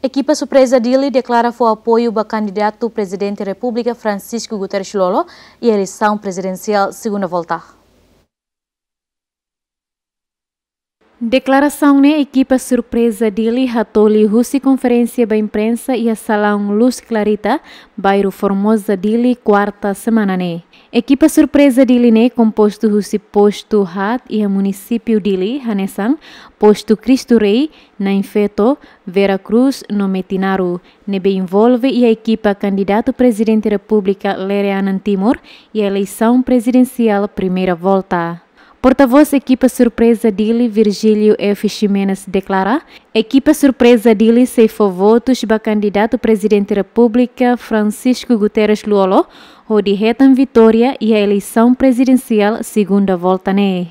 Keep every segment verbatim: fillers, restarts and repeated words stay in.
Ekipa surpreza Dili deklara fó apoiu ba kandidatu Prezidente Repúblika Francisco Guterres Lú-Olo iha eleisaun prezidensiál segunda volta. Deklarasaun ne'e ekipa surpreza Dili hatoli husi konferénsia ba imprensa iha Salaun Luz Clarita, bairru Formosa, Dili, kuarta semana ne'e. Ekipa surpreza Dili ne'e kompostu husi postu haat iha munisípiu Dili, hanesan postu Cristo Rei, Nain Feto, Vera Cruz no Metinaro, ne'ebé envolve iha ekipa kandidatu Prezidente Repúblika Lere Anan Timor iha eleisaun prezidensiál primeira volta. Portavós ekipa surpreza Dili, Virgílio F. Ximenes, deklara, ekipa surpreza Dili sei fó votus ba kandidatu Prezidente Repúblika Francisco Guterres Lú-Olo, hodi hetan vitória iha eleisaun prezidensiál segunda volta ne'e.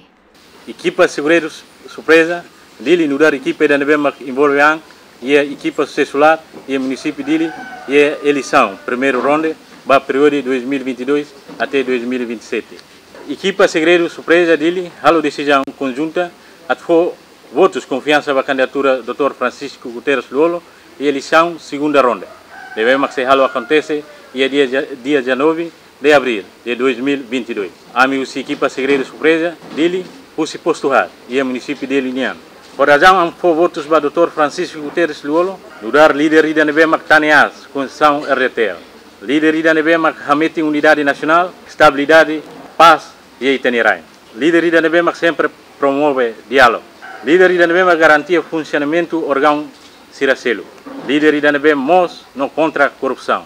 Ekipa segredu surpreza Dili nu'udar ekipa ida ne'ebé mak envolve an iha ekipa susesu laat iha munisípiu Dili iha eleisaun primeira ronda ba períodu dois mil e vinte e dois até dois mil e vinte e sete. Ekipa segredu surpreza Dili halo desizaun konjunta atu fó votus konfiansa ba kandidatura doutór Francisco Guterres Lú-Olo iha eleisaun segunda ronda, ne'ebé mak sei halo akontese iha dia, dia dezanove de abril de dois mil e vinte e dois. Ami husi ekipa segredu surpreza Dili, husi postu haat iha munisípiu Dili nian. Ho razaun ami fó votus ba doutór Francisco Guterres Lú-Olo, nu'udar líder ida ne'ebé mak tane aas konstituisaun R D T L. Líder ida ne'ebé mak hametin unidade nasionál, estabilidade, pás iha ita-nia rain. Líder ida ne'ebé mak sempre promove diálogu. Líder ida ne'ebé mak garantia funsionamentu órgaun sira seluk. Líder ida ne'ebé moos no kontra korrupsaun.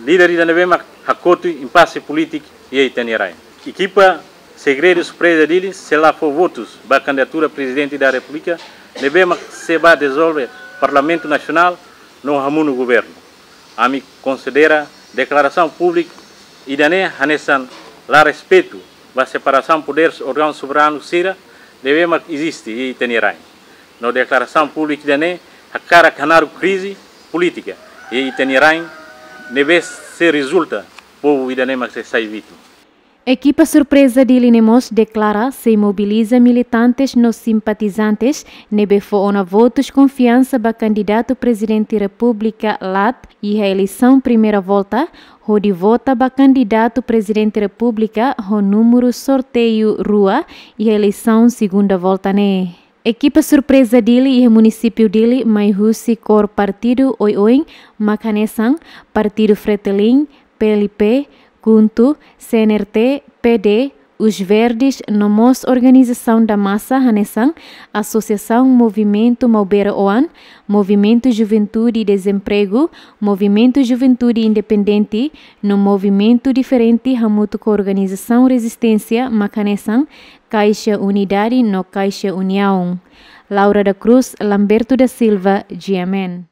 Líder ida ne'ebé mak hakotu impase polítiku iha ita-nia rain. Ekipa segredu surpreza Dili sei la fó votus ba kandidatura Prezidente da Repúblika ne'ebé mak sei bá dizolve Parlamentu Nasionál no hamonu governu. Ami konsidera deklarasaun públika ida-ne'e hanesan la respeitu ba separasaun poderes órgaun soberanu sira ne'ebé mak eziste iha ita-nia rain. No deklarasaun públika ida-ne'e hakarak hanaruk krize polítika iha ita-nia rain ne'ebé sei rezulta povu ida-ne'e mak sei sai vítima. Ekipa surpreza Dili ne'e mós deklara sei mobiliza militantes no simpatizantes ne'ebé fó ona votus konfiansa ba kandidatu Prezidente Repúblika laat iha eleisaun primeira volta, hodi vota ba kandidatu Prezidente Repúblika ho númeru sorteiu rua iha eleisaun segunda volta ne'e. Ekipa surpreza Dili iha munisípiu Dili mai husi kór partidu oioin mak hanesan Partidu Fretilin, P L P, KHUNTO, C N R T, P D, Os Verdes, no mós organizasaun da masa hanesan Asosiasaun Movimentu Maubere Oan, Movimentu Juventude Dezempregu, Movimentu Juventude Independente, no movimentu diferente hamutuk ho organizasaun rezisténsia mak hanesan Kaixa Unidade no Kaixa Uniaun. Laura da Cruz, Lamberto da Silva, G M N.